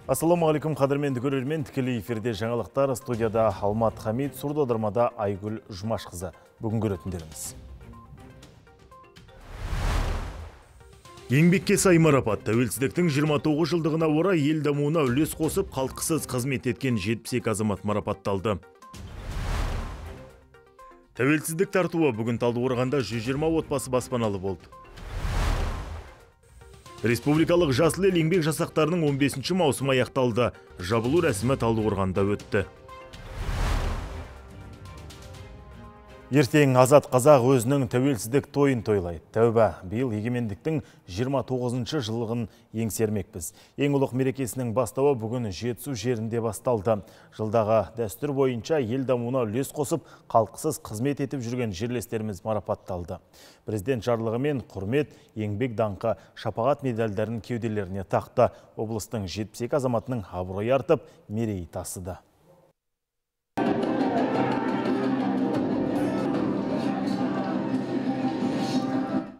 Ассаламағалейкум, қадірменді көрермен, тікелей эфирде жаңалықтар, студияда Алмат Хамид, сурдодырмада Айгүл Жұмашқызы. Бүгін көретіндеріміз. Еңбекке сай марапат. Тәуелсіздіктің 29 жылдығына орай ел дамуына үлес қосып, қалтқысыз қызмет еткен 72 азамат марапатталды. Тәуелсіздік тартуы бүгін Талдықорғанда 120 отбасы баспаналы болды. Республикалық жасыл ел еңбек жасақтарының 15 маусым аяқталды. Жабылу рәсімі Талдықорғанда өтті. Ертең азат қазақ өзінің тәуелсіздік тойын тойлайды. Тәуба, биыл егемендіктің 29 жылығын еңсермекпіз. Ең ұлық мерекесінің бастауы бүгін Жетісу жерінде басталды. Жылдағы дәстүр бойынша ел дамуына үлес қосып, қалтқысыз қызмет етіп жүрген жерлестеріміз марапатталды. Президент жарлығымен құрмет, еңбек даңқы, шапағат медальдарын кеуделеріне тақты. Облыстың 72 азаматының абыройы артып, мерейі тасыды.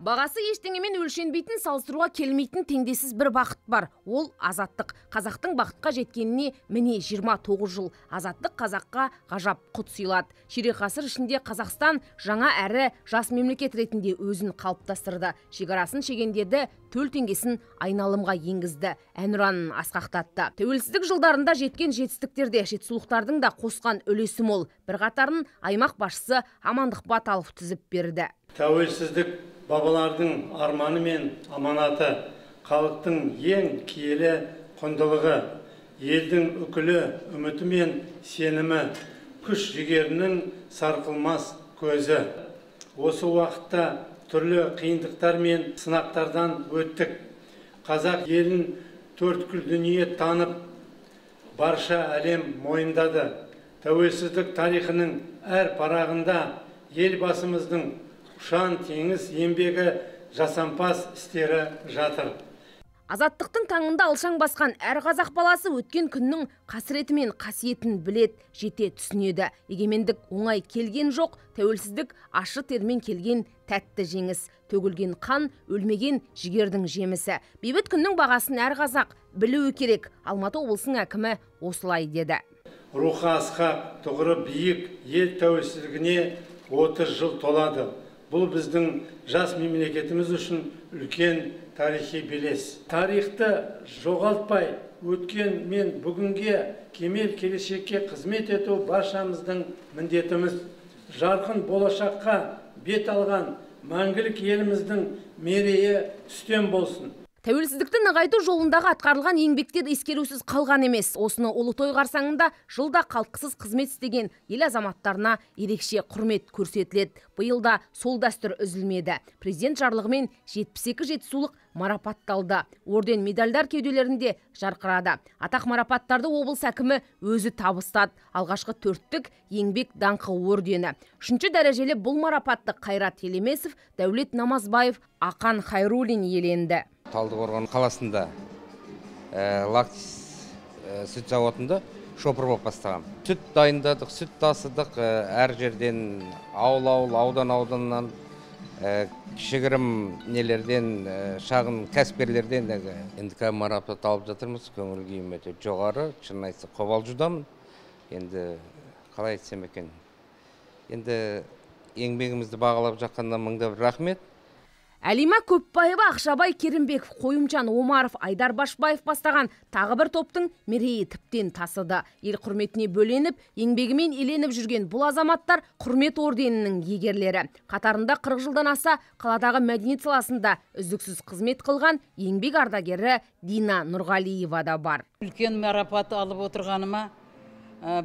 Бағасы ештеңемен өлшенбейтін, салыстыруға келмейтін теңдессіз бір бақыт бар. Ол азаттық. Қазақтың бақытқа жеткеніне міне 29 жыл. Азаттық қазаққа ғажап құт сыйлады. Ширек ғасыр ішінде Қазақстан жаңа әрі жас мемлекет ретінде өзін қалыптастырды. Шекарасын шегендерді, төл теңгесін айналымға енгізді. Әнұранын асқақтатты. Тәуелсіздік жылдарында жеткен жетістіктерде жетісулықтардың да қосқан үлесі мол. Bir қатарын аймақ басшысы Амандық Баталов тізіп берді. Тәуелсіздік бабалардың арманы мен аманаты, халықтың ең киелі құндылығы, елдің үкілі үміті мен сенімі, күш жігерінің сарқылмас көзі. Осы уақытта түрлі қиындықтар мен сынақтардан өттік. Қазақ елін төрткүл дүние танып, барша әлем мойындады. Тәуелсіздік тарихының әр парағында елбасымыздың ұшан теңіз еңбегі жасампаз істері жатыр. Азаттықтың таңында алшаң басқан әр қазақ баласы өткен күннің қасіреті мен қасиетін білет, жете түсінеді. Егемендік оңай келген жоқ, тәуелсіздік ашы термен келген тәтті жеңіс. Төгілген қан, өлмеген жігердің жемісі. Бейбіт күннің бағасын әр қазақ білуі керек. Алматы облысының әкімі осылай деді. Рухы асқақ, тұғыры биік ел тәуелсіздігіне 30 жыл толады. Бұл біздің жас мемлекетіміз үшін үлкен тарихи белес. Тарихты жоғалтпай, өткен мен бүгінге кемел келешекке қызмет ету баршамыздың міндетіміз. Жарқын болашаққа бет алған мәңгілік еліміздің мерейі үстем болсын. Тәуелсіздікті нығайту жолындағы атқарылған еңбектер ескерусіз қалған емес. Осыны ұлы той қарсаңында жылда қалтқысыз қызмет істеген ел азаматтарына ерекше құрмет көрсетіледі. Биылда сол дәстүр үзілмеді. Президент жарлығымен 72 жетісулық марапатталды. Орден медальдар кеуделерінде жарқырады. Атақ марапаттарды облыс әкімі өзі табыстады. Алғашқы 4-тік еңбек даңқы ордені. 3-ші дәрежелі бұл марапатты Қайрат Елемесов, Дәулет Намазбаев, Ақан Хайруллин иеленді. Талдықорған қаласында лактис сүт зауытында шопыр болып бастаған. Сүт дайындадық, сүт тасыдық, әр жерден аудан-ауданнан, кішігірім нелерден, шағын кәсіпкерлерден енді марапат алып жатырмыз. Көңіл күйім өте жоғары, шын айтса қобалжудамын. Енді қалай айтсам екен. Енді еңбегімізді бағалап жатқаннан мыңда бір рахмет. Әлима Көпбаева, Ақшабай Керімбеков, Қойымжан Омаров, Айдар Башбаев бастаған тағы бір топтың мерейі тіптен тасыды. Ел құрметіне бөленіп, еңбегімен еленіп жүрген бұл азаматтар құрмет орденінің егерлері. Қатарында 40 жылдан аса қаладағы мәдениет саласында үздіксіз қызмет қылған еңбек ардагері Дина Нұрғалиева да бар. Үлкен марапат алып отырғаныма,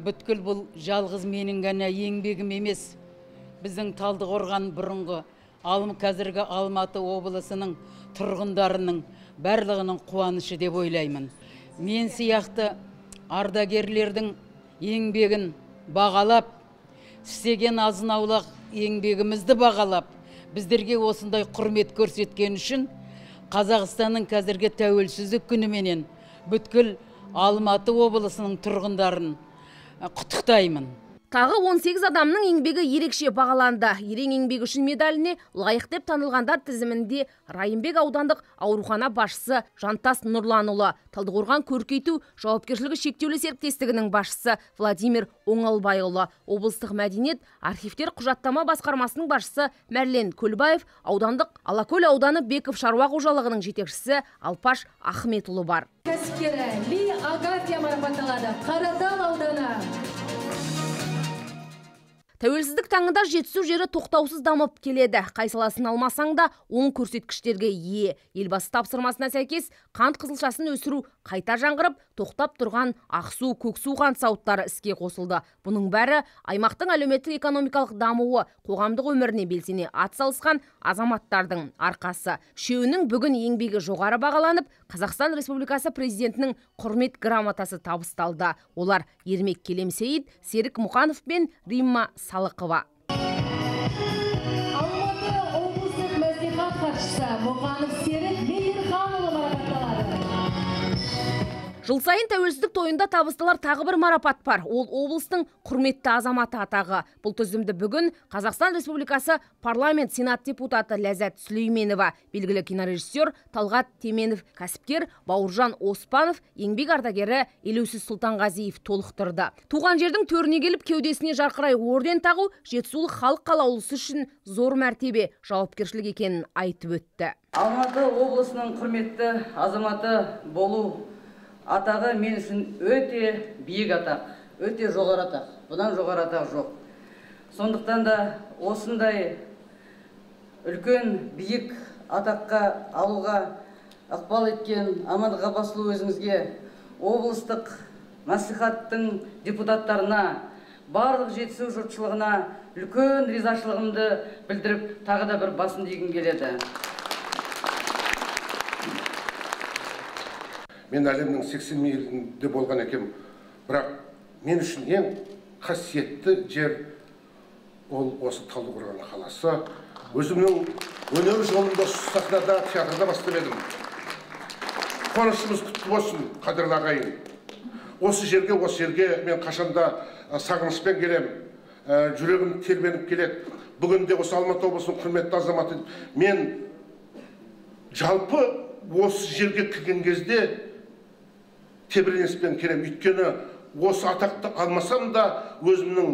бүткіл бұл жалғыз менің ғана еңбегім емес. Біздің Талдықорған бұрынғы қазіргі Алматы облысының тұрғындарының барлығының қуанышы деп ойлаймын. Мен сияқты ардагерлердің еңбегін бағалап, істеген азын-аулақ еңбегімізді бағалап, біздерге осындай құрмет көрсеткен үшін Қазақстанның қазіргі тәуелсіздік күніменен бүткіл Алматы облысының тұрғындарын құттықтаймын. Тағы 18 адамның еңбегі ерекше бағаланды. Ерен еңбегі үшін медаліне лайық деп танылғандар тізімінде Райымбек аудандық аурухана басшысы Жантас Нұрланұлы, Талдықорған көркейту жауапкершілігі шектеулі серіктестігінің басшысы Владимир Оңалбайұлы, облыстық мәдениет архивтер құжаттама басқармасының басшысы Мәрлен Көлбаев, аудандық Алакөл ауданы Беков шаруа қожалығының жетекшісі Алпаш Ахметұлы бар. Кәсіпкері Ли Агафья марапатталады. Қаратал ауданы. Тәуелсіздік таңында жетісу жері тоқтаусыз дамып келеді. Қай саласын алмасаң да оң көрсеткіштерге ие. Елбасы тапсырмасына сәйкес қант қызылшасын өсіру қайта жаңғырып, тоқтап тұрған Ақсу, Көксу қант зауыттары іске қосылды. Бұның бәрі аймақтың әлеуметтік экономикалық дамуы, қоғамдық өміріне белсене атсалысқан азаматтардың арқасы. Үшеуінің бүгін еңбегі жоғары бағаланып, Қазақстан Республикасы президентінің құрмет грамотасы табысталды. Олар Ермек Келемсейіт, Серік Мұқанов пен Римма Салықова. Алматы облыстық мәслихат хатшысы Мұқанов Серік Мейірханұлы марапатталады. Жыл сайын тәуелсіздік тойында табысталар тағы бір марапат бар. Ол облыстың құрметті азаматы атағы. Бұл тізімді бүгін Қазақстан Республикасы парламент сенат депутаты Ләззат Сүлейменова, белгілі кинорежиссер Талғат Теменов, кәсіпкер Бауыржан Оспанов, еңбек ардагері Елеусіз Сұлтанғазиев толықтырды. Туған жердің төріне келіп кеудесіне жарқырай орден тағу жетісулық халық қалаулысы үшін зор мәртебе, жауапкершілік екенін айтып өтті. Алматы облысының құрметті азаматы болу атағы мен үшін өте биік атақ, өте жоғары атақ. Бұдан жоғары атақ жоқ. Сондықтан да осындай үлкен биік атаққа алуға ықпал еткен Амандық Ғаббасұлы өзіңізге, облыстық мәслихаттың депутаттарына, барлық жетісу жұртшылығына үлкен ризашылығымды білдіріп, тағы да бір басын дегім келеді. Мен әлемнің 80 елінде болған екем, бірақ мен үшін ең қасиетті жер ол осы Талдықорған қаласы. Өзімнің өнер жолында сахнада, театрда бастап едім. Қуанышымыз құтты болсын, қадірлі ағайын. Осы жерге мен қашанда сағынышпен келем, жүрегім тербеніп келеді. Бүгінде осы Алматы облысының құрметті азаматы, мен жалпы осы жерге кірген кезде тебіреніспен келем. Өйткені осы атақты алмасам да өзімнің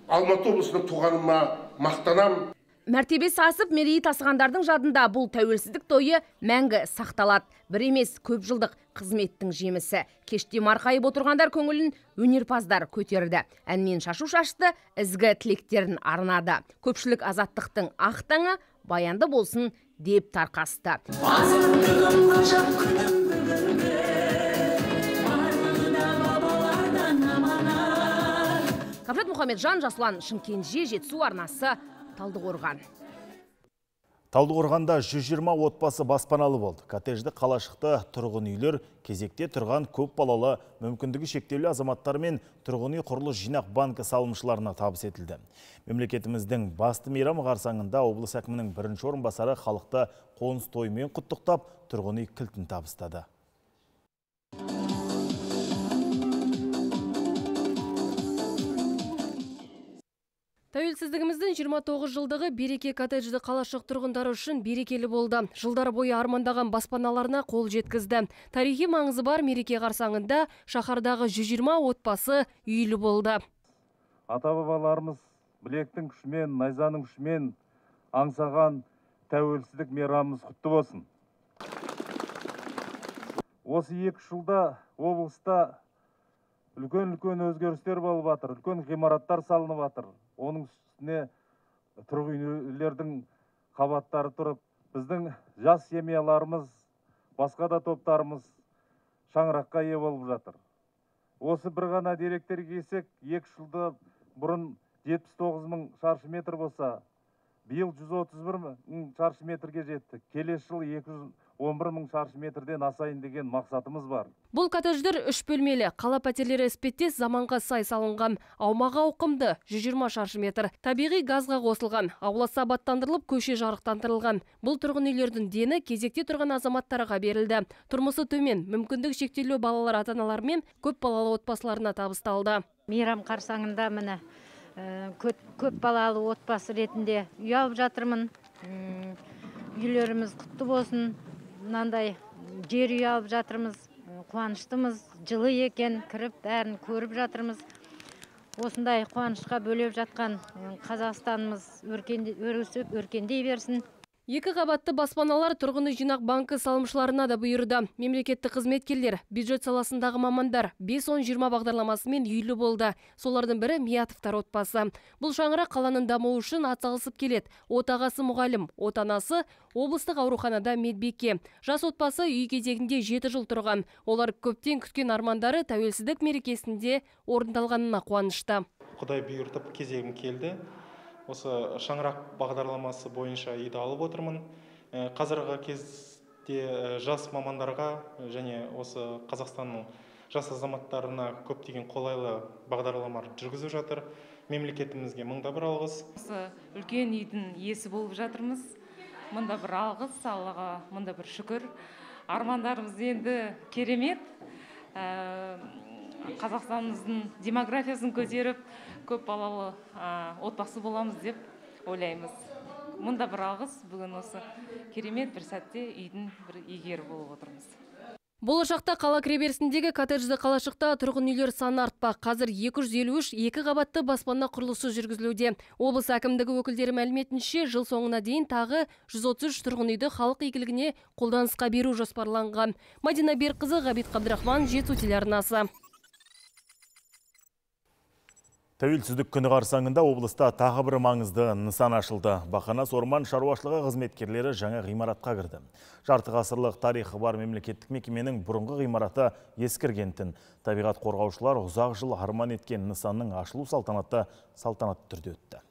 Алматы облысының туғаныма мақтанам. Мәртебесі асып, мерейі тасығандардың жадында бұл тәуелсіздік тойы мәңгі сақталады. Бір емес, көп жылдық қызметтің жемісі. Кеште марқайып отырғандар көңілін өнерпаздар көтерді. Әнмен шашу шашты, ізгі тілектерін арнады. Көпшілік азаттықтың ақ таңы баянды болсын деп тарқасты. Кабжат Мұхамеджан, Жасұлан Шымкенже, Жетісу арнасы, Талдықорған. Талдықорғанда 120 отбасы баспаналы болды. Коттеджді қалашықты тұрғын үйлер кезекте тұрған көп балалы мүмкіндігі шектеулі азаматтар мен тұрғын үй құрылыс жинақ банкі салымшыларына табыс етілді. Мемлекетіміздің басты мейрамы қарсаңында облыс әкімінің бірінші орынбасары халықты қоныс тойымен құттықтап, тұрғын үй кілтін табыстады. Тәуелсіздігіміздің 29 жылдығы береке коттеджді қалашық тұрғындары үшін берекелі болды. Жылдар бойы армандаған баспаналарына қол жеткізді. Тарихи маңызы бар мереке қарсаңында шаһардағы 120 отбасы үйлі болды. Ата-бабаларымыз білектің күшімен, найзаның күшімен аңсаған тәуелсіздік мейрамымыз құтты болсын. Осы 2 жылда облыста үлкен өзгерістер болып жатыр, үлкен ғимараттар салынып жатыр. Оның үстіне тұрғын үйлердің қабаттары тұрып, біздің жас семьяларымыз, басқа да топтарымыз шаңыраққа ие болып жатыр. Осы бір ғана деректерге келсек, 2 жылда бұрын 79 мың шаршы метр болса, биыл 131 мың шаршы метрге жетті. Келесі жыл 211 мың шаршы метрден асайын деген мақсатымыз бар. Бұл коттедждер 3 бөлмелі, қала пәтерлері іспеттес заманға сай салынған. Аумағы ауқымды 120 шаршы метр. Табиғи газға қосылған, ауласы абаттандырылып, көше жарықтандырылған. Бұл тұрғын үйлердің дені кезекте тұрған азаматтарға берілді. Тұрмысы төмен, мүмкіндік шектеулі балалар ата-аналар мен көп балалы отбасыларына табысталды. Мейрам қарсаңында міне Көп балалы отбасы ретінде үй алып жатырмын. Үйлеріміз құтты болсын. Мынандай жер үй алып жатырмыз. Қуаныштымыз, жылы екен, кіріп бәрін көріп жатырмыз. Осындай қуанышқа бөлеп жатқан Қазақстанымыз өркендеп өркендей берсін. Екі қабатты баспаналар тұрғын үй жинақ банкі салымшыларына да бұйырды. Мемлекеттік қызметкерлер, бюджет саласындағы мамандар 5-10-20 бағдарламасымен үйлі болды. Солардың бірі Миятовтар отбасы. Бұл шаңырақ қаланың дамуы үшін атсалысып келеді. Отағасы мұғалім, отанасы облыстық ауруханада медбике. Жас отбасы үй кезегінде 7 жыл тұрған. Олар көптен күткен армандары тәуелсіздік мерекесінде орындалғанына қуанышты. Құдай бұйыртып кезегім келді. Осы шаңырақ бағдарламасы бойынша үйді алып отырмын. Қазіргі кезде жас мамандарға және осы Қазақстанның жас азаматтарына көптеген қолайлы бағдарламалар жүргізіп жатыр. Мемлекетімізге мыңда бір алғыс. Осы үлкен үйдің иесі болып жатырмыз. Мында бір алғыс, Аллаға мында бір шүкір. Армандарымыз енді керемет. Қазақстанымыздың демографиясын көтеріп, көп балалы отбасы боламыз деп ойлаймыз. Мұнда бір алғыс, бүгін осы керемет бір сәтте үйдің бір иегері болып отырмыз. Болашақта қала кіреберісіндегі коттеджді қалашықта тұрғын үйлер саны артпақ. Қазір 253 екі қабатты баспана құрылысы жүргізілуде. Облыс әкімдігі өкілдері мәліметінше, жыл соңына дейін тағы 133 тұрғын үйді халық игілігіне қолданысқа беру жоспарланған. Мадина Берқызы, Ғабит Қабдырахман, Жетісу телеарнасы. Тәуелсіздік күні қарсаңында облыста тағы бір маңызды нысан ашылды. Бақанас орман шаруашылығы қызметкерлері жаңа ғимаратқа кірді. Жарты ғасырлық тарихы бар мемлекеттік мекеменің бұрынғы ғимараты ескіргентін. Табиғат қорғаушылар ұзақ жыл арман еткен нысанның ашылу салтанатты түрде өтті.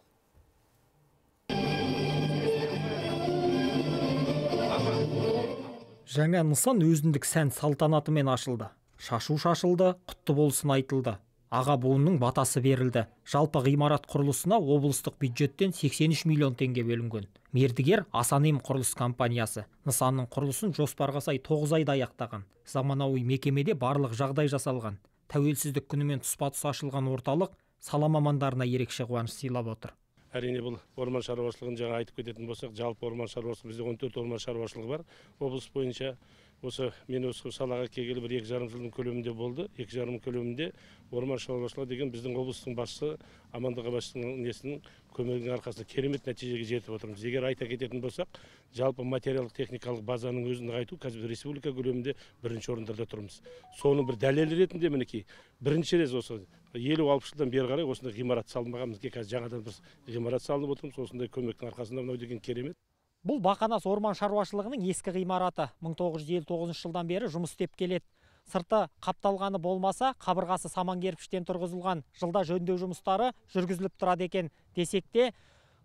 Жаңа нысан өзіндік сән салтанатымен ашылды. Шашу шашылды, құтты болсын айтылды. Аға буынның батасы берілді. Жалпы ғимарат құрылысына облыстық бюджеттен 83 миллион теңге бөлінген. Мердігер Асанем құрылыс компаниясы. Нысанның құрылысын жоспарға сай 9 айда аяқтаған. Заманауи мекемеде барлық жағдай жасалған. Тәуелсіздік күнімен тұспа-тұс ашылған орталық сала мамандарына ерекше қуаныш сыйлап отыр. Әрине бұл орман шаруашылығын жаңа айтып кететін болсақ, жалпы орман шаруашылығы, бізде 14 орман шаруашылығы бар. Облыс бойынша мен осы салаға келгелі бір 2,5 жылдың көлемінде болды. 2,5 көлемінде орман шаруашылығы деген біздің облыстың басшысы Амандық Абашевтың несінің көмегінің арқасында керемет нәтижеге жетіп отырмыз. Егер айта кететін болсақ, жалпы материалдық техникалық базаның өзін нығайту қазір республика көлемінде бірінші орындарда тұрмыз. Соның бір дәлелі ретінде мінекей бірінші рет осы 50-60 жылдан бері қарай осындай ғимарат салынбаған, бізге қазір жаңадан бір ғимарат салынып отырмыз. Осындай көмектің арқасында мынау деген керемет. Бұл Бақанас орман шаруашылығының ескі ғимараты 1959 жылдан бері жұмыс істеп келеді. Сырты қапталғаны болмаса, қабырғасы саман кірпіштен тұрғызылған. Жылда жөндеу жұмыстары жүргізіліп тұрады екен. Десек те,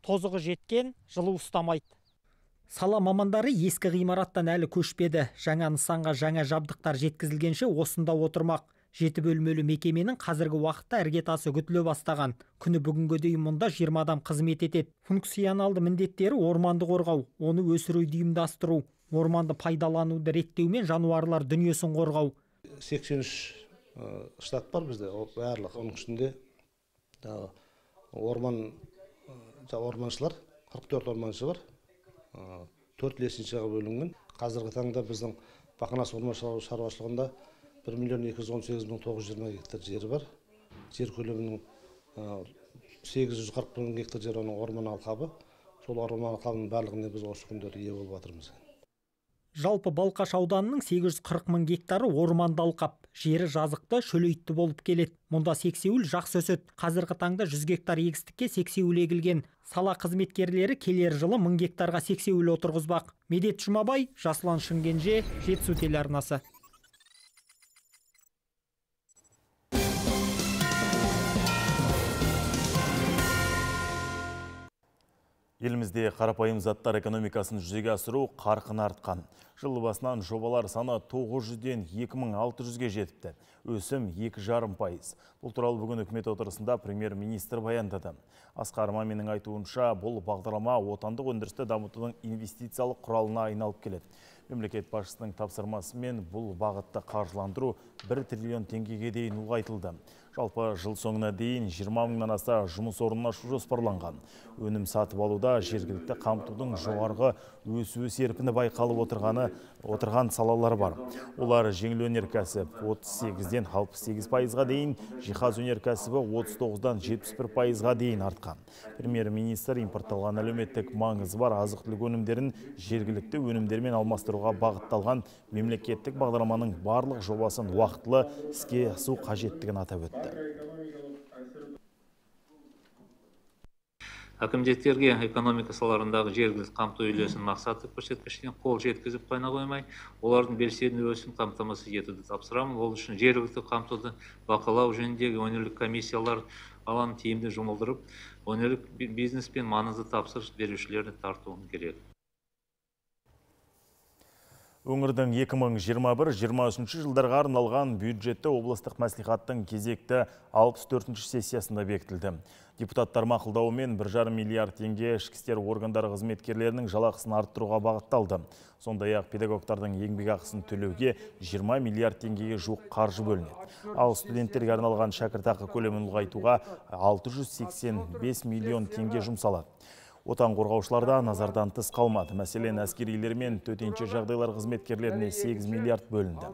тозығы жеткен, жылу ұстамайды. Сала мамандары ескі ғимараттан әлі көшпеді. Жаңа нысанға жаңа жабдықтар жеткізілгенше осында отырмақ. 7 бөлмелі мекеменің қазіргі уақытта іргетасы күтіле бастаған. Күні бүгінгі дейін мұнда 20 адам қызмет етеді. Функционалды міндеттері орманды қорғау, оны өсіруді ұйымдастыру, орманды пайдалануды реттеу мен жануарлар дүниесін қорғау. 83 штат бар бізде, барлық оның ішінде орманшылар, 44 орманшы бар, 4 лесеншіға бөлінген. Қазіргі таңда біздің Бақанас орман шаруашылығында 1,218,920 гектар жері бар. Жер көлемінің 840 мың гектар жер оның орман алқабы. Сол орман алқабының барлығына біз осы күндері ие болып жатырмыз. Жалпы Балқаш ауданының 840 мың гектары орманды алқап. Жері жазықты, шөлейтті болып келеді. Мұнда сексеуіл жақсы өседі. Қазіргі таңда 100 гектар егістікке сексеуіл егілген. Сала қызметкерлері келер жылы 1000 гектарға сексеуіл отырғызбақ. Медет Жұмабай, Жасұлан Шынгенже, Жетісу телеарнасы. Елімізде қарапайым заттар экономикасын жүзеге асыру қарқын артқан. Жыл басынан жобалар саны 900-ден 2600-ге жетіпті. Өсім 2,5%. Бұл туралы бүгін үкімет отырысында премьер-министр баяндады. Асқар Маминнің айтуынша, бұл бағдарлама отандық өндірісті дамытудың инвестициялық құралына айналып келеді. Мемлекет басшысының тапсырмасымен бұл бағытты қаржыландыру 1 триллион теңгеге дейін ұлғайтылды. Жалпы жыл соңына дейін 20 мыңнан аса жұмыс орнын ашу жоспарланған. Өнім сатып алуда жергілікті қамтудың жоғарғы өсу серпіні байқалып отырған салалар бар. Олар жеңіл өнеркәсіп 38-ден 68%-ға дейін, жиһаз өнеркәсібі 39-дан 71%-ға дейін артқан. Премьер-министр импортталған әлеуметтік маңызы бар азық-түлік өнімдерін жергілікті өнімдермен алмастыруға бағытталған мемлекеттік бағдарламаның барлық жобасын уақытылы іске асыру қажеттігін атап өтті. Әкімдіктерге экономика салаларындағы жергілікті қамту үлесін мақсатты көрсеткіштен қол жеткізіп қана қоймай, олардың белсенді үлесін қамтамасыз етуді тапсырамын. Ол үшін жергілікті қамтуды бақылау жөніндегі өңірлік комиссиялар алаңын тиімді жұмылдырып, өңірлік бизнес пен маңызды тапсырыс берушілерді тартуым керек. Өңірдің 2021-2023 жылдарға арналған бюджетті облыстық мәслихаттың кезекті 64-ші сессиясында бекітілді. Депутаттар мақұлдауымен 1,5 миллиард теңге ішкі істер органдары қызметкерлерінің жалақысын арттыруға бағытталды. Сондай-ақ педагогтардың еңбек ақысын төлеуге 20 миллиард теңгеге жуық қаржы бөлінеді. Ал студенттерге арналған шәкіртақы көлемін ұлғайтуға 685 миллион теңге жұмсалады. Отан қорғаушыларда назардан тыс қалмады. Мәселен, әскерилер мен төтенше жағдайлар қызметкерлеріне 8 миллиард бөлінді.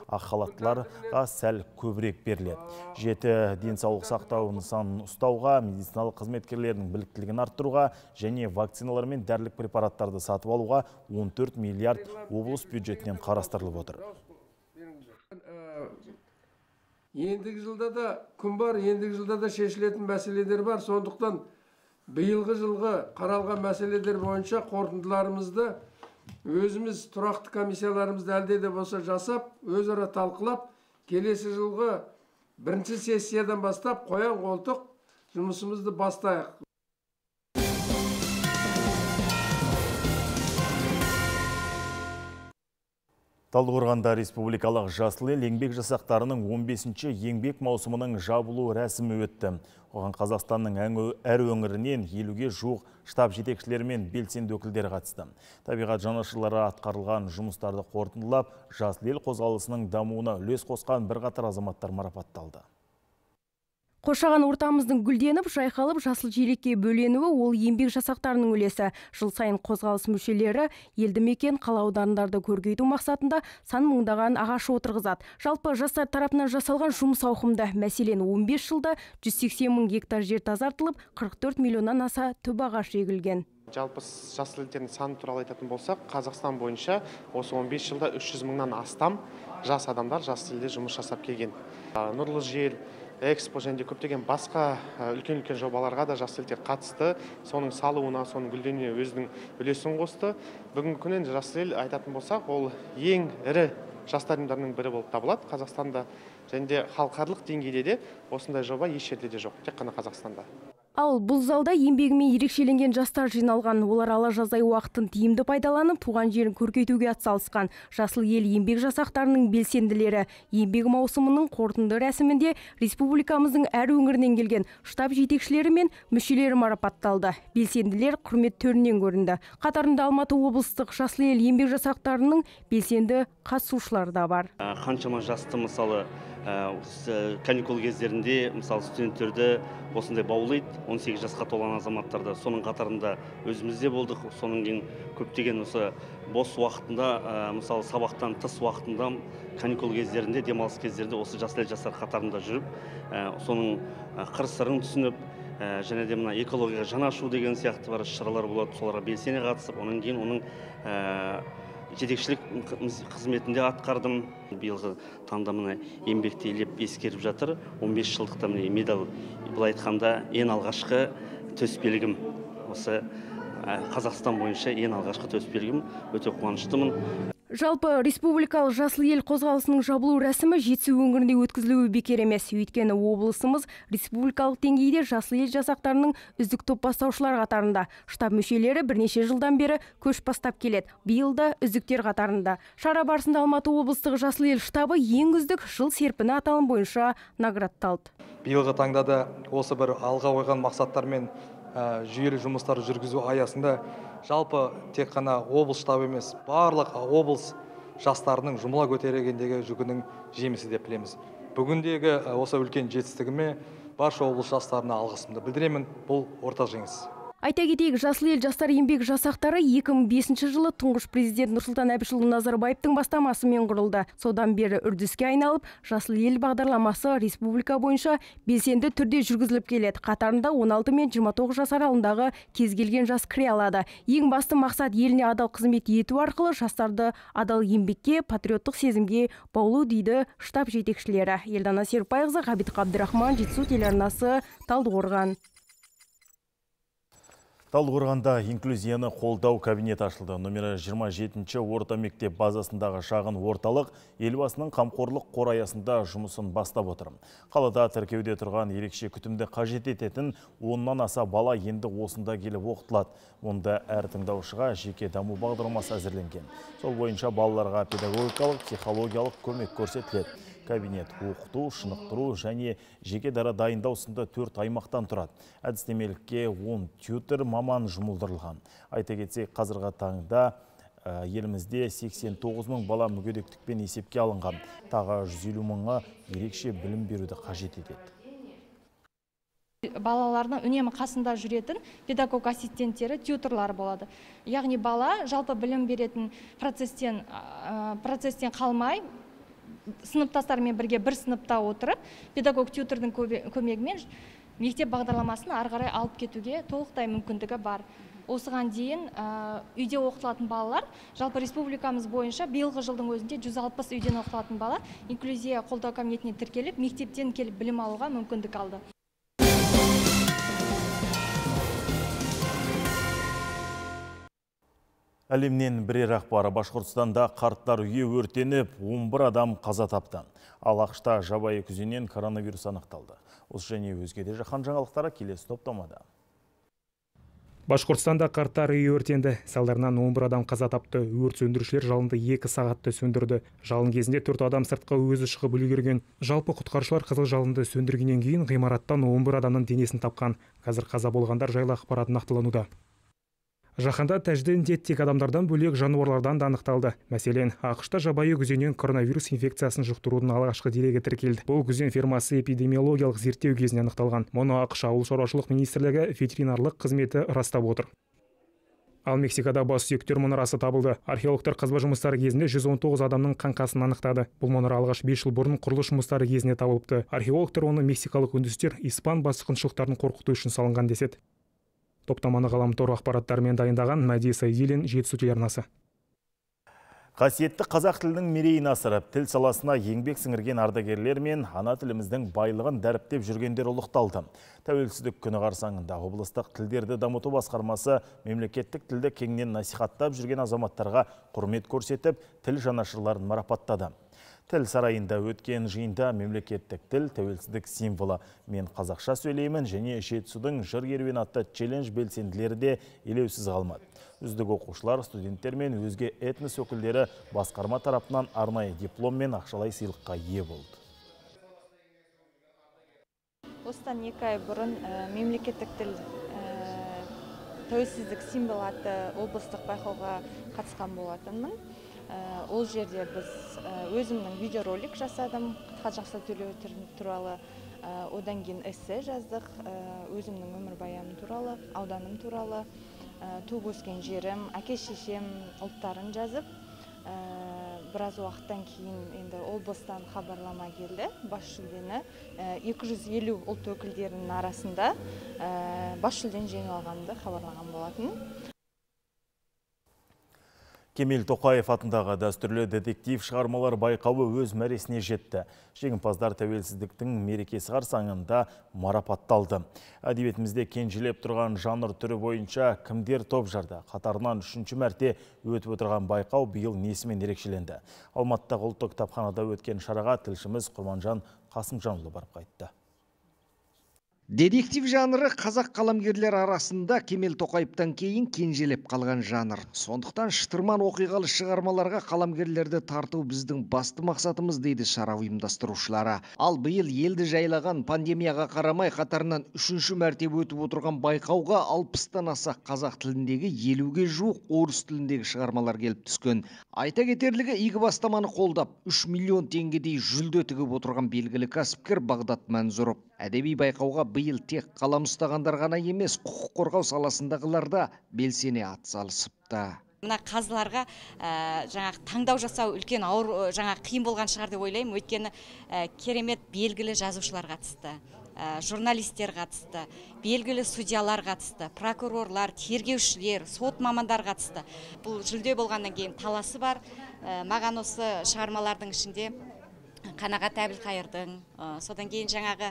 Ақ халаттыларға сәл көбірек беріледі. 7 денсаулық сақтау нысанын ұстауға, медициналық қызметкерлердің біліктілігін арттыруға және вакциналар мен дәрілік препараттарды сатып алуға 14 миллиард облыс бюджетінен қарастырылып отыр. Ендігі жылда да күн бар, ендігі жылда да шешілетін мәселелер бар. Сондықтан биылғы жылғы қаралған мәселелер бойынша қорытындыларымызды өзіміз тұрақты комиссияларымызды әлде де болса жасап, өзара талқылап, келесі жылғы бірінші сессиядан бастап қоян қолтық жұмысымызды бастайық. Талдықорғанда республикалық жасыл ел еңбек жасақтарының 15-ші еңбек маусымының жабылу рәсімі өтті. Оған Қазақстанның әр өңірінен 50-ге жуық штаб жетекшілері мен белсенді өкілдері қатысты. Табиғат жанашырлары атқарылған жұмыстарды қорытындылап, жасыл ел қозғалысының дамуына үлес қосқан бірқатар азаматтар марапатталды. Қоршаған ортамыздың гүлденіп, жайқалып, жасыл желекке бөленуі ол еңбек жасақтарының үлесі. Жыл сайын қозғалыс мүшелері елді мекен қала аудандарды көркейту мақсатында сан мыңдаған ағаш отырғызады. Жалпы жастар тарапынан жасалған жұмыс ауқымды. Мәселен, 15 жылда 180 мың гектар жер тазартылып, 44 миллионнан аса түп ағаш егілген. Жалпы жасыл елдердің саны туралы айтатын болсақ, Қазақстан бойынша осы 15 жылда 300 мыңнан астам жас адамдар жасыл елде жұмыс жасап келген. Нұрлы жер, Экспо және көптеген басқа үлкен-үлкен жобаларға да жасыл елдер қатысты. Соның салуына, соның гүлденуіне өзінің үлесін қосты. Бүгінгі күннен жасыл ел айтатын болсақ, ол ең ірі жастар ұйымдарының бірі болып табылады Қазақстанда. Және де халықаралық деңгейде де осындай жоба еш жерде де жоқ, тек қана Қазақстанда. Ал бұл залда еңбегімен ерекшеленген жастар жиналған. Олар ала жаздай уақытын тиімді пайдаланып, туған жерін көркейтуге атсалысқан. Жасыл ел еңбек жасақтарының белсенділері еңбек маусымының қорытынды рәсімінде республикамыздың әр өңірінен келген штаб жетекшілері мен мүшелері марапатталды. Белсенділер құрмет төрінен көрінді. Қатарында Алматы облыстық жасыл ел еңбек жасақтарының белсенді қатысушылары да бар. Қаншама жасты мысалы каникул кездерінде мысалы студенттерді осындай баулайды, 18 жасқа толған азаматтарды. Соның қатарында өзімізде болдық. Соның кейін көптеген осы бос уақытында, мысалы сабақтан тыс уақытында, каникул кездерінде, демалыс кездерінде осы жасыл ел жастар қатарында жүріп, соның қыр-сырын түсініп, және де мына экологияға жан ашу деген сияқты бар шаралар болады. Соларға белсене қатысып, онан кейін оның жетекшілік қызметінде атқардым. Биылғы таңда мына еңбекті елеп ескеріп жатыр. 15 жылдықта міне медаль, былай айтқанда ең алғашқы төсбелгім. Осы Қазақстан бойынша ең алғашқы төсбелгім. Өте қуаныштымын. Жалпы республикалық жасыл ел қозғалысының жабылу рәсімі Жетісу өңірінде өткізілуі бекер емес. Өйткені облысымыз республикалық деңгейде жасыл ел жасақтарының үздік топ бастаушылар қатарында. Штаб мүшелері бірнеше жылдан бері көш бастап келеді. Биыл да үздіктер қатарында. Шара барысында Алматы облыстық жасыл ел штабы ең үздік жыл серпіні аталым бойынша наградталды. Биылғы таңда да осы бір алға қойған мақсаттармен жүйелі жұмыстар жүргізу аясында жалпы тек қана облыс штабы емес, барлық облыс жастарының жұмыла көтергендегі жүгінің жемісі деп білеміз. Бүгіндегі осы үлкен жетістігіме барша облыс жастарына алғысымды білдіремін. Бұл ортақ жеңіс. Айта кетейік, Жасыл ел жастар еңбек жасақтары 2005 жылы тұңғыш президент Нұрсұлтан Әбішұлы Назарбаевтың бастамасымен құрылды. Содан бері үрдіске айналып, Жасыл ел бағдарламасы республика бойынша белсенді түрде жүргізіліп келеді. Қатарында 16 мен 29 жас аралығындағы кез келген жас кіре алады. Ең басты мақсат еліне адал қызмет ету арқылы жастарды адал еңбекке, патриоттық сезімге баулу дейді штаб жетекшілері. Елдана Серікбайқызы, Ғабит Қабдырахман, Жетісу телеарнасы, Талдықорған. Талдықорғанда инклюзияны қолдау кабинет ашылды. Номері 27-ші орта мектеп базасындағы шағын орталық елбасының қамқорлық қор аясында жұмысын бастап отыр. Қалада тіркеуде тұрған ерекше күтімді қажет ететін 10-нан аса бала енді осында келіп оқытылады. Онда әр тыңдаушыға жеке даму бағдарламасы әзірленген. Сол бойынша балаларға педагогикалық, психологиялық көмек көрсетіледі. Кабинет оқыту, шынықтыру және жеке дара дайындау сынды 4 аймақтан тұрады. Әдістемелікке 10 тьютер маман жұмылдырылған. Айта кетсек, қазіргі таңда елімізде 89 мың бала мүгедектікпен есепке алынған. Тағы 150 мыңға ерекше білім беруді қажет етеді. Балалардың үнемі қасында жүретін педагог ассистенттері, тьюторлар болады. Яғни бала жалпы білім беретін процесстен қалмай, сыныптастармен бірге бір сыныпта отырып, педагог тьютордың көмегімен мектеп бағдарламасын ары қарай алып кетуге толықтай мүмкіндігі бар. Осыған дейін үйде оқытылатын балалар, жалпы республикамыз бойынша биылғы жылдың өзінде 160 үйден оқытылатын бала инклюзия қолдау кабинетіне тіркеліп, мектептен келіп білім алуға мүмкіндік алды. Әлемнен бірер ақпары. Башқұртстанда қарттар үйі өртеніп, 11 адам қаза тапты. Ал ақшта жабайы күзеннен коронавирус анықталды. Осы және өзге де жаһан жаңалықтары келесі топтамада. Башқұртстанда қарттар үйі өртенді. Салдарынан 11 адам қаза тапты. Өрт сөндірушілер жалынды 2 сағатты сөндірді. Жалын кезінде 4 адам сыртқа өзі шығып үлгерген. Жалпы құтқарушылар қызыл жалынды сөндіргеннен кейін ғимараттан 11 адамның денесін тапқан. Қазір қаза болғандар жайлы ақпарат нақтылануда. Жаһанда тәжді індет тек адамдардан бөлек жануарлардан да анықталды. Мәселен, ақшта жабайы күзеннен коронавирус инфекциясын жұқтырудың алғашқы дерегі тіркелді. Бұл күзен фермасы эпидемиологиялық зерттеу кезінде анықталған. Мұны ақш ауыл шаруашылық министрлігі ветеринарлық қызметі растап отыр. Ал Мексикада бас сүйектер мұнарасы табылды. Археологтар қазба жұмыстары кезінде 119 адамның қаңқасын анықтады. Бұл мұнара алғаш 5 жыл бұрын құрылыс жұмыстары кезінде табылыпты. Археологтар оны мексикалық үндістер испан басқыншылықтарын қорқыту үшін салынған деседі. Топтаманы ғаламтор ақпараттарымен дайындаған Мәди Сайдилин, Жетісу телеарнасы. Қасиетті қазақ тілінің мерейін асырып, тіл саласына еңбек сіңірген ардагерлер мен ана тіліміздің байлығын дәріптеп жүргендер ұлықталды. Тәуелсіздік күні қарсаңында облыстық тілдерді дамыту басқармасы мемлекеттік тілді кеңінен насихаттап жүрген азаматтарға құрмет көрсетіп, тіл жанашырларын марапаттады. Тіл сарайында өткен жиында мемлекеттік тіл тәуелсіздік символы. Мен қазақша сөйлеймін және Жетісудың жыр керуені атты челлендж белсенділері де елеусіз қалмады. Үздік оқушылар, студенттер мен өзге этнос өкілдері басқарма тарапынан арнайы диплом мен ақшалай сыйлыққа ие болды. Осыдан 2 ай бұрын мемлекеттік тіл тәуелсіздік символ атты облыстық байқауға қатысқан болатынмын. Ол жерде біз өзімнің видеоролик жасадым, қазақша сөйлеу туралы, одан кейін эссе жаздық, өзімнің өмір баяным туралы, ауданым туралы, туып өскен жерім, әке-шешем ұлттарын жазып, біраз уақыттан кейін енді облыстан хабарлама келді. Бас жүлдені 250 ұлт өкілдерінің арасында бас жүлдені жеңіп алғанымды хабарлаған болатын. Кемел Тоқаев атындағы дәстүрлі детектив шығармалар байқауы өз мәресіне жетті. Жеңімпаздар тәуелсіздіктің мерекесі қарсаңында марапатталды. Әдебиетімізде кенжелеп тұрған жанр түрі бойынша кімдер топ жарды. Қатарынан 3-ші мәрте өтіп отырған байқау биыл несімен ерекшеленді. Алматыдағы ұлттық кітапханада өткен шараға тілшіміз Құрманжан Қасымжанұлы барып қайтты. Детектив жанры қазақ қаламгерлер арасында Кемел Тоқаевтан кейін кенжелеп қалған жанр. Сондықтан шытырман оқиғалы шығармаларға қаламгерлерді тарту біздің басты мақсатымыз, дейді шара ұйымдастырушылары. Ал биыл елді жайлаған пандемияға қарамай қатарынан 3-ші мәртебе өтіп отырған байқауға 60-тан аса қазақ тіліндегі 50-ге жуық орыс тіліндегі шығармалар келіп түскен. Айта кетерлігі, игі бастаманы қолдап 3 миллион теңгедей жүлде тігіп отырған белгілі кәсіпкер Бағдат Мәнзұров. Әдеби байқауға биыл тек қалам ұстағандар ғана емес, құқық қорғау саласындағылар да белсене атсалысыпты. Мына қазыларға жаңағы таңдау жасау үлкен ауыр, жаңағы қиын болған шығар деп ойлаймын. Өйткені керемет белгілі жазушылар қатысты, журналистер қатысты, белгілі судьялар қатысты, прокурорлар, тергеушілер, сот мамандар қатысты. Бұл жүлде болғаннан кейін таласы бар. Маған осы шығармалардың ішінде Қанағат Әбілқайырдың, содан кейін жаңағы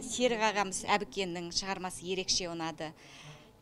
Серік ағамыз Әбікеннің шығармасы ерекше ұнады.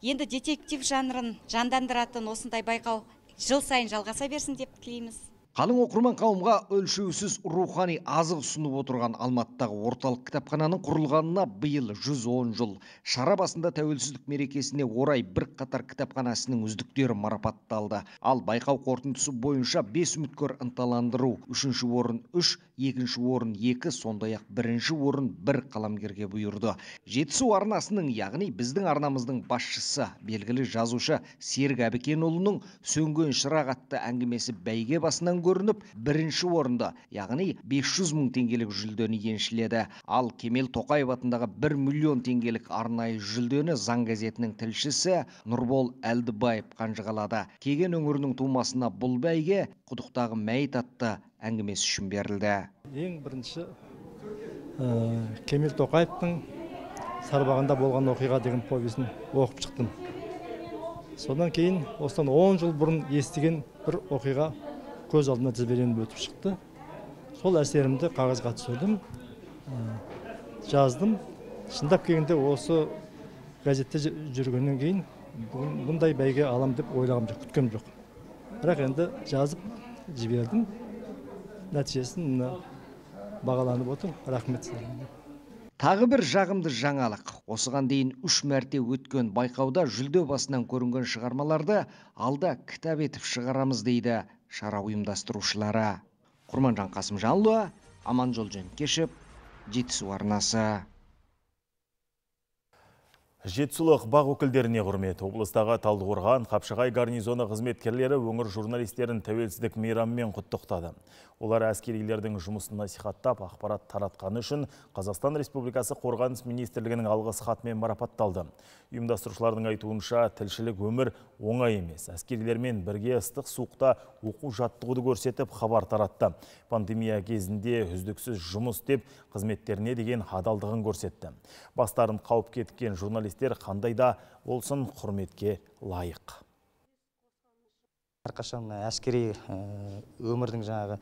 Енді детектив жанрын жандандыратын осындай байқау жыл сайын жалғаса берсін деп тілейміз. Қалың оқырман қауымға өлшеусіз рухани азық ұсынып отырған Алматыдағы орталық кітапхананың құрылғанына биыл 110 жыл. Шара басында тәуелсіздік мерекесіне орай бір қатар кітапхана ісінің үздіктері марапатталды. Ал байқау қорытындысы бойынша 5 үміткер ынталандыру, 3-ші орын 3, 2-ші орын 2, сондай-ақ 1-ші орын 1 қаламгерге бұйырды. Жетісу арнасының, яғни біздің арнамыздың басшысы, белгілі жазушы Серік Әбікенұлының Сөнген шырақ атты әңгімесі бәйге басынан көрініп, 1-ші орында, яғни 500 мың теңгелік жүлдені еншіледі. Ал Кемел Тоқаев атындағы 1 миллион теңгелік арнайы жүлдені Заң газетінің тілшісі Нұрбол Әлдібаев қанжығалады. Кеген өңірінің тумасына бұл бәйге құдықтағы мәйіт атты әңгімесі үшін берілді. Ең бірінші Кемел Тоқаевтың Сарбағында болған оқиға деген повесін оқып шықтым. Содан кейін осыдан 10 жыл бұрын естіген бір оқиға көз алдына тізбеленіп өтіп шықты. Сол әсерімді қағазға түсірдім, жаздым. Шындап келгенде осы газетте жүргеннен кейін бұндай бәйге алам деп ойлағам жоқ, күткем жоқ. Бірақ енді жазып жібердім. Нәтижесін бағаланып отыр. Рахмет сіздерге. Тағы бір жағымды жаңалық. Осыған дейін 3 мәрте өткен байқауда жүлде басынан көрінген шығармаларды алда кітап етіп шығарамыз, дейді шара ұйымдастырушылары. Құрманжан Қасымжанұлы, Аманжол Жөнкешев, Жетісу арнасы. Жетісулық бақ өкілдеріне құрмет. Облыстағы Талдықорған, Қапшағай гарнизоны қызметкерлері өңір журналистерін тәуелсіздік мейрамымен құттықтады. Олар әскерилердің жұмысын насихаттап, ақпарат таратқаны үшін Қазақстан Республикасы Қорғаныс министрлігінің алғыс хатымен марапатталды. Ұйымдастырушылардың айтуынша, тілшілік өмір оңай емес. Әскерилермен бірге ыстық суықта оқу жаттығуды көрсетіп, хабар таратты. Пандемия кезінде үздіксіз жұмыс деп қызметтеріне деген адалдығын көрсетті. Бастарын қауіп кеткен журналистер қандай да болсын құрметке лайық. Әрқашан әскери өмірдің жаңағы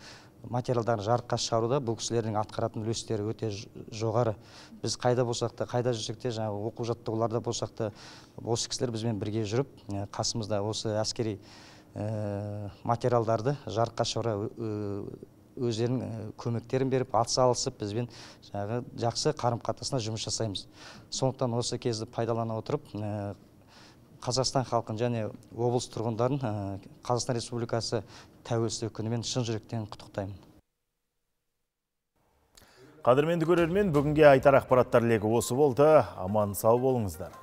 материалдарын жарыққа шығаруда бұл кісілердің атқаратын үлестері өте жоғары. Біз қайда болсақ та, қайда жүрсек те, жаңағы оқу жаттығуларда болсақ та, осы кісілер бізбен бірге жүріп, қасымызда осы әскери материалдарды жарыққа шығара өздерінің көмектерін беріп, атсалысып, бізбен жақсы қарым-қатынасында жұмыс жасаймыз. Сондықтан осы кезді пайдалана отырып, Қазақстан халқын және облыс тұрғындарын Қазақстан Республикасы тәуелсіздік күнімен шын жүректен құттықтаймын. Қадірменді көрермен, бүгінге айтар ақпараттар легі осы болды. Аман сау болыңыздар.